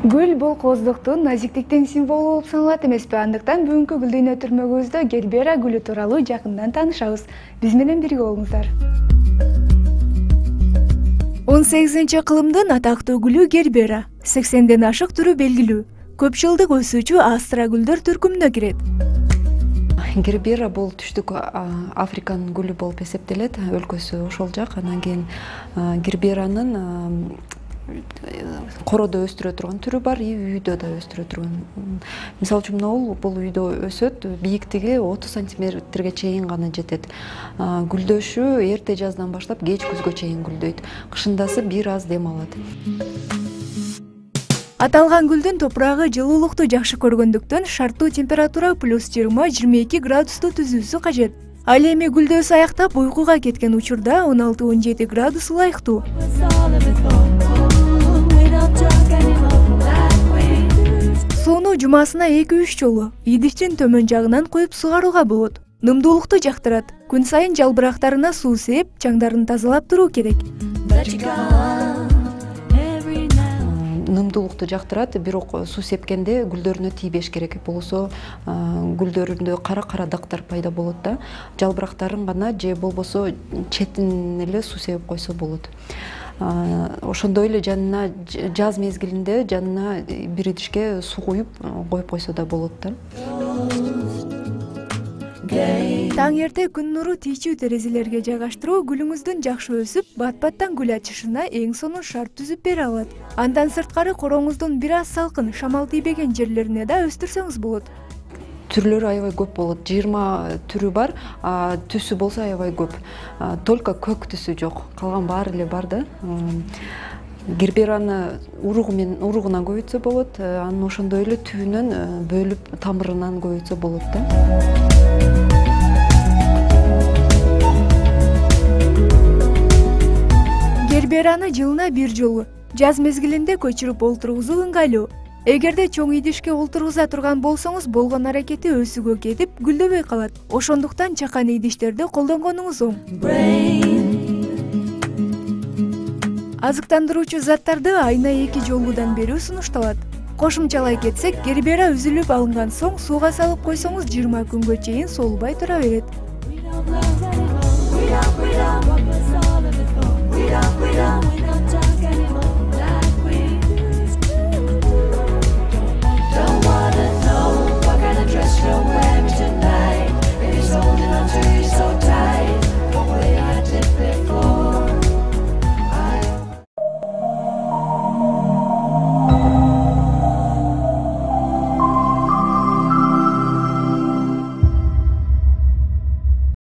Гүл бул кооздуктун, назиктиктин символу болуп саналат эмеспи? Андыктан бүгүнкү гүл дүйнө гербера гүлү тууралуу жакындан таанышабыз. Биз менен бирге болуңуздар. 18-кылымдын атактуу гүлү гербера. 80ден ашык түрү белгилүү. Көп жылдык өсүүчү астра гүлдөр түркүмүнө кирет. Гербера бул түштүк Африканын гүлү болуп эсептелет. Өлкөсү ошол жак. Анан кийин герберанын короодо өстүрө турган түрү бар, үйдө да өстүрө турган. Мисалы үчүн бул үйдө өсөт, бийиктиги 30 сантиметрге чейин гана жетет. Гүлдөшү эрте жаздан баштап кеч күзгө чейин гүлдөйт. Кышындасы бир аз дем алат. Аталган гүлдүн топурагы жылуулукту жакшы көргөндүктөн шарттуу температура +20-22 градусту түзүүсү кажет. Ал эми гүлдөөсү аяктап уйкуга кеткен учурда 16-17 градус ылайыктуу. Сууну жумасына 2-3 жолу идиштин төмөн жагынан куюп сугарууга болот. Нымдуулукту жактырат. Күн сайын жалбырактарына суу сээп, чаңдарын тазалап туруу керек. Нымдуулукту жактырат, бирок суу сепкенде гүлдөрүнө тийбеш керек. Болсо гүлдөрүндө кара дактар пайда болот да. Жалбырактарын гана же болбосо четин эле суу сепип койсо болот. Ошондой эле жанына жаз мезгилинде жанына бир идишке суу куюп коюп койсо да болот да. Таң эрте күн нуру тийчүү терезелерге жайгаштыруу гүлүңүздүн жакшы өсүп, бат-баттан гүл ачышына эң сонун шарт түзүп бере алат. Андан сырткары корооңуздун бир аз салкын, шамал тийбеген жерлерине да өстүрсөңүз болот. Түрлөрү аябай көп болот. 20 түрү бар, түсү болсо аябай көп. Только көк түсү жок. Калган баары эле бар да. Гербераны уругунан көбөйтсө болот, анан ошондой эле түбүнөн бөлүп тамырынан көбөйтсө болот да. Гербераны жылына бир жолу жаз мезгилинде көчүрүп олтургузуу ыңгайлуу. Эгерде чоң идишке олтургуза турган болсоңуз, болгон аракети өсүүгө кетип, гүлдөбөй калат. Ошондуктан чакан идиштерди колдонгонуңуз оң. Азыктандыруучу заттарды айына 2 жолудан берүү сунушталат. Кошумчалай кетсек, гербера үзүлүп алынган соң сууга салып койсоңуз 20 күнгө чейин солубай тура берет.